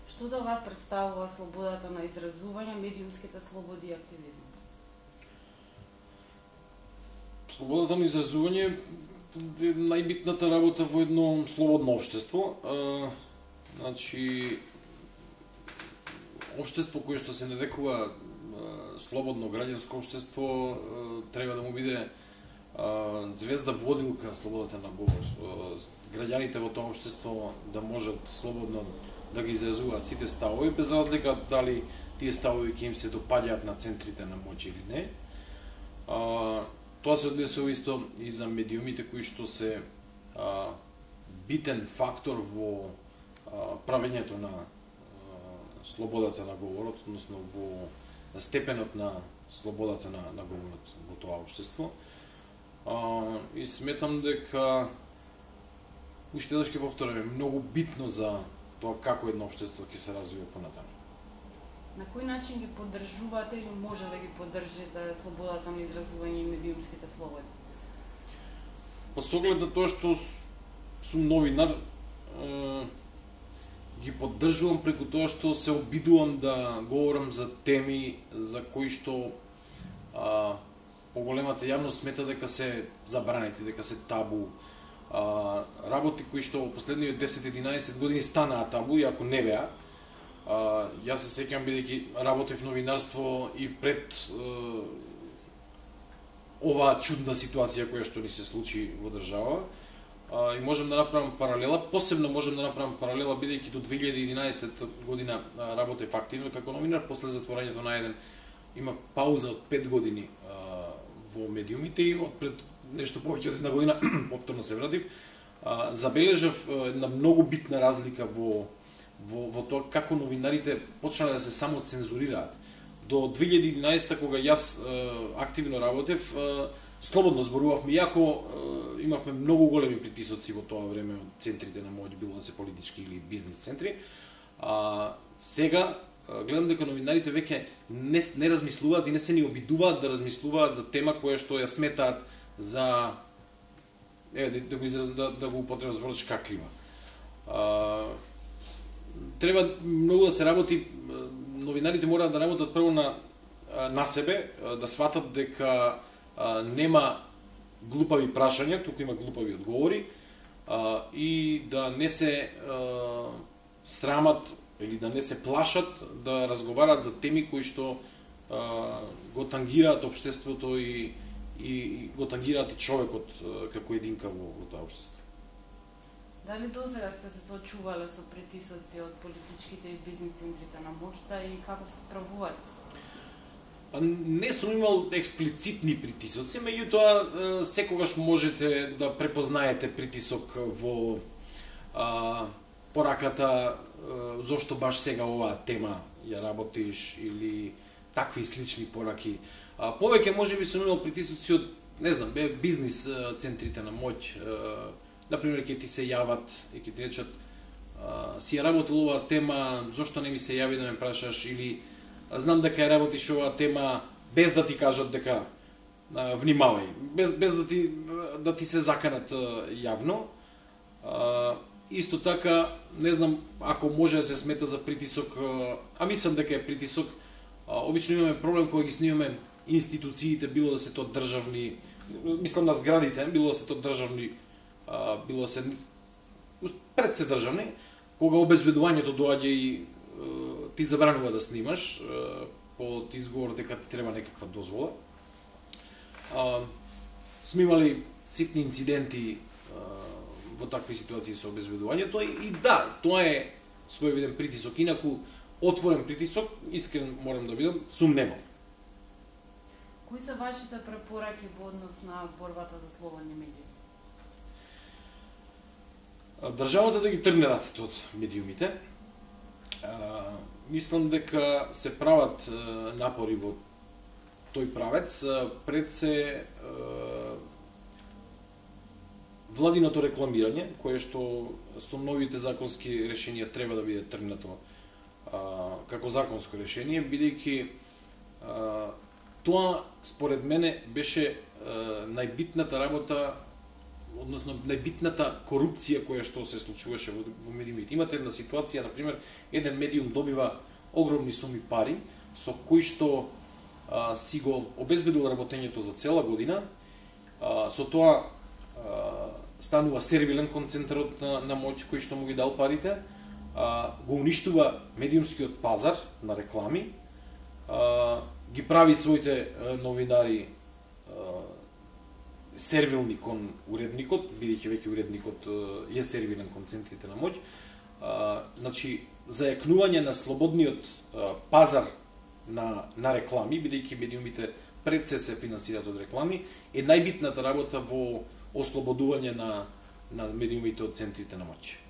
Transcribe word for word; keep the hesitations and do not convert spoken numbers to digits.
Што за вас представува слободата на изразување, медиумските слободи и активизмот? Слободата на изразување е најбитната работа во едно слободно општество. А, значи, општество кое што се нарекува а, слободно граѓанско општество а, треба да му биде а, звезда водилка слободата на говор. Граѓаните во тоа општество да можат слободно да ги изразуваат сите ставови, без разлика дали тие ставови ќе им се допаѓаат на центрите на моќ или не. А, тоа се однесува исто и за медиумите кои што се а, битен фактор во а, правењето на а, слободата на говорот, односно во степенот на слободата на, на говорот во тоа општество. А, и сметам дека уште еднаш ќе повторам, многу битно за тоа како едно општество ќе се развива понатаму. На кој начин ги поддржувате или може да ги поддржите слободата на изразување и медиумските слободи? Па со оглед на тоа што сум новинар, е, ги поддржувам преку тоа што се обидувам да говорам за теми за кои што а, поголемата јавност смета дека се забранети, дека се табу. А, работи кои што во последниот десет-единаесет години станаа табу, иако не беа. А, јас се сеќам бидејќи работев новинарство и пред е, оваа чудна ситуација која што ни се случи во држава. А, и можем да направам паралела, посебно можем да направам паралела бидејќи до две илјади и единаесета година работев активно како новинар, после затворањето на еден имав пауза од пет години а, во медиумите и од пред нешто повеќе од една година повторно се вратив. А, забележав една многу битна разлика во во во тоа како новинарите почнале да се само цензурираат. До две илјади и единаесета кога јас е, активно работев, е, слободно зборувавме, иако е, имавме многу големи притисоци во тоа време од центрите на моќ, било да се политички или бизнес центри. А сега е, гледам дека новинарите веќе не не размислуваат и не се ни обидуваат да размислуваат за тема која што ја сметаат за е да, да го израз, да, да го употребам зборот шкаклива. А, треба многу да се работи, новинарите мораат да работат прво на на себе, да сватат дека а, нема глупави прашања, туку има глупави одговори, а, и да не се а, срамат или да не се плашат да разговарат за теми кои што а, го тангираат општеството и и го тангираат и човекот како единка во, во тоа општество. Дали досега сте се соочувале со притисоци од политичките и бизнес центрите на моќта и како се справувате со тоа? Не сум имал експлицитни притисоци, меѓутоа секогаш можете да препознаете притисок во а, пораката а, зошто баш сега оваа тема ја работиш или такви слични пораки. А, повеќе можеби сум имал притисоци од, не знам, бизнес центрите на моќ. А, например, ќе ти се јават и ќе ти речат а, си ја работил оваа тема, зошто не ми се јави да ме прашаш, или знам дека ја работиш оваа тема без да ти кажат дека а, внимавај, без, без да ти да ти се заканат а, јавно. А, исто така, не знам ако може да се смета за притисок, а, а мислам дека е притисок. А, обично имаме проблем кога ги снимаме институциите, било да се тоа државни, мислам на зградите, било да се тоа државни, а, било да се пред се државни, кога обезбедувањето доаѓа и а, ти забранува да снимаш а, под изговор дека ти треба некаква дозвола. А, сме имали ситни инциденти а, во такви ситуации со обезбедувањето и, и да, тоа е своевиден притисок, инаку отворен притисок, искрен морам да бидам, сум немал. Кои се вашите препораки во однос на борбата за слободни медии? Државата да ги тргне рацете од медиумите. А, мислам дека се прават а, напори во тој правец. А, пред се а, владиното рекламирање, кое што со новите законски решенија треба да биде тргнато а, како законско решение, бидејќи а, тоа според мене беше а, најбитната работа односно најбитната корупција која што се случуваше во, во медиумите. Имате една ситуација, на пример, еден медиум добива огромни суми пари со кои што а, си го обезбедил работењето за цела година, а, со тоа а, станува сервилен концентрат на, на моќ кој што му ги дал парите, а, го уништува медиумскиот пазар на реклами, а, ги прави своите а, новинари а, сервилни кон уредникот, бидејќи веќе уредникот е сервилен кон центрите на моќ. А, значи, зајакнување на слободниот а, пазар на, на реклами, бидејќи медиумите пред се се финансираат од реклами, е најбитната работа во ослободување на, на медиумите од центрите на моќ.